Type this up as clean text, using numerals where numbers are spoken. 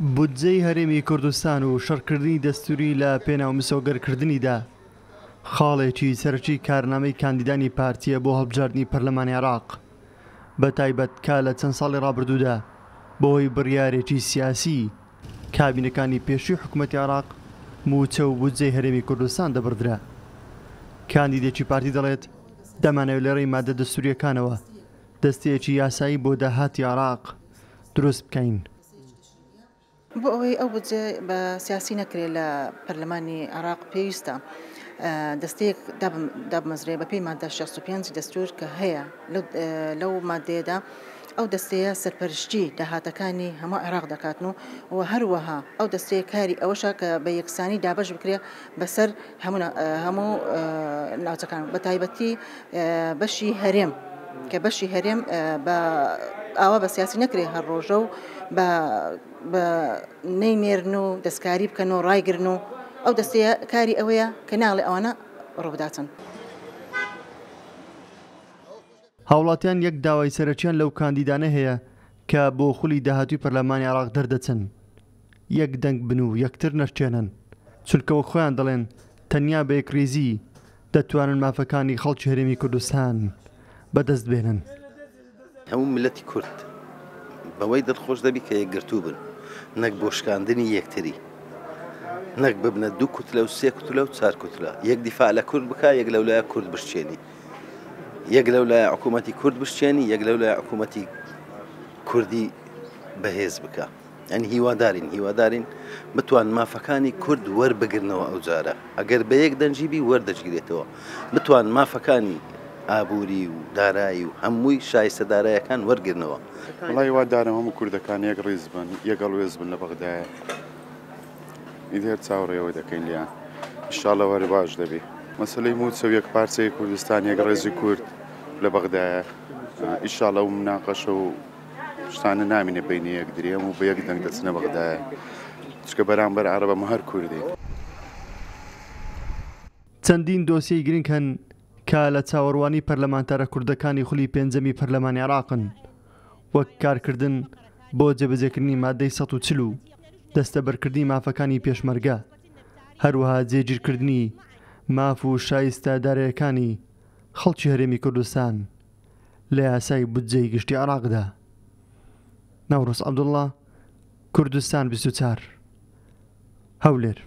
بودجەی هەرێمی کوردستان و شەڕکردنی دەستووری لە پێناو مسۆگەرکردنیدا، خاڵێکی سەرەکی کارنامەی کاندیدانی پارتییە بۆ هەڵبژاردنی پەرلەمانی عێراق، بەتایبەت کە لە چەند ساڵی ڕابردوودا بەهۆی بڕیارێکی سیاسی کابینەکانی پێشووی حکومەتی عێراق مووچە و بودجەی هەرێمی کوردستان دەبڕدرا. کاندیدێکی پارتی دەڵێت، دەمانەوێت لە ڕێی مادە دەستوورییەکانەوە دەستەیەکی یاسایی بۆ داهاتی عێراق دروست بکەین. بۆ ئەوەی ئەو بودجە بە سیاسی نەکرێت لە پەرلەمانی عێراق پێویستە دەستەیەک دابمەزرێ بەپێی مادە 65 دەستور کە هەیە لەو مادەیەدا ئەو دەستەیە سەرپەرشتی داهاتەکانی هەموو عێراق دەکاتن و و هەروەها ئەو دەستەیە کاری ئەوەشە کە بە یەکسانی دابەش بکرێ بەسەر هەموو ناوچەکان بە تایبەتی بەشی هەرێم کە بەشی هەرێم بە ئاوا بە سیاسی نەکرێ هەر ڕۆژە و بە بە نەینێرن و دەستکاری بکەن و ڕایگرن و ئەو دەستەیە کاری ئەوەیە کە ناڵێ ئەوانە ڕووبداتن. هاوڵاتیان یەک داوای سەرەکیان لەو کاندیدانە هەیە کە بۆ خولی داهاتووی پەرلەمانی عێراق دەردەچن، یەک دەنگ بن و یەکتر نەشکێنن، چونکە وەک خۆیان دەڵێن تەنیا بە یەکڕیزی دەتوانن مافەکانی خەڵکی هەرێمی کوردستان بەدەست بێنن. هەموو میللەتی کورد بەوەی دڵخۆش دەبی کە یەکگرتوو بن نەک بۆ شکاندنی یەکتری نەک ببنە دوو کوتلە و سێ کوتلە و چار کوتلە یەک دیفاع لە کورد بکا یەک لەولایە کورد بشچێنی یەک لەولایە حکوومەتی کورد بشچێنی یەک لەولایە حکوومەتی کوردی بەهێز بکە. یانی هیوادارین هیوادارین بتوان مافەکانی کورد وەربگرنەوە ئەو جارە ئەگەر بە یەک دەنگی بی وەردەگیرێتەوە بتوان مافەکانی ئابووری و دارایی و هەمووی شایستە دارایەکان وەرگرنەوە. وەڵا هیوادارم هەموو کوردەکان یەک ڕیز بن یەک هەڵوێست بن لە بەغدایە ئیدی هەر چاوەڕێی ئەوە دەکەین لێیان ئیشاڵڵە هەر باش دەبی مەسەلەی مووچە و یەک پارچەی کوردستان یەک ڕێزی کورد لە بەغدایە ئیشاڵڵە ئەو مناقەشە و شتانە نامینێ بینی یەکدری هەموو بە یەک دەنگ دەچنە بەغدایە چونکە بەرامبەر عەرەبە هەموو هەر کوردین. چەندین دۆسیەی گرنگ هەن کە لە چاوەڕوانی پەرلەمانتارە کوردەکانی خولی پێنجەمی پەرلەمانی عێراقن، وەک کارکردن بۆ جێبەجێکردنی مادەی 140 و دەستەبەرکردنی مافەکانی پێشمەرگە، هەروەها جێگیرکردنی ماف و شایستە دارایەکانی خەڵکی هەرێمی کوردستان. لە یاسای بودجەی گشتی عێراقدا. نەورۆز عەبدوڵڵا، کوردستان 24، هەولێر.